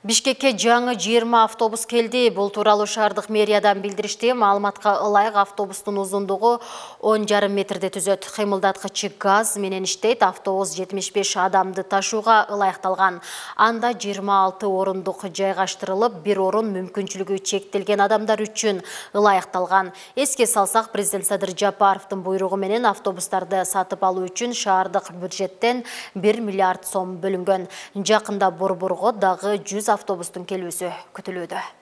Бишкекке жаңы 20 автобус келди. Бул тууралуу шаардык мэриядан билдиришти. Маалыматка ылайык автобустун узундугу 10,5 метрди түзөт. Кыймылдаткычы газ менен иштейт. Автобус 75 адамды ташууга ылайыкталган. Анда 26 орундук жайгаштырылып, бир орун мүмкүнчүлүгү чектелген адамдар үчүн ылайыкталган. Эске салсак, президент Садыр Жапаровдун буйругу менен автобустарды сатып алуу үчүн шаардык бюджеттен 1 миллиард сом бөлүнгөн. Жакында Борборго дагы 100 автобустун келүүсү күтүлүүдө.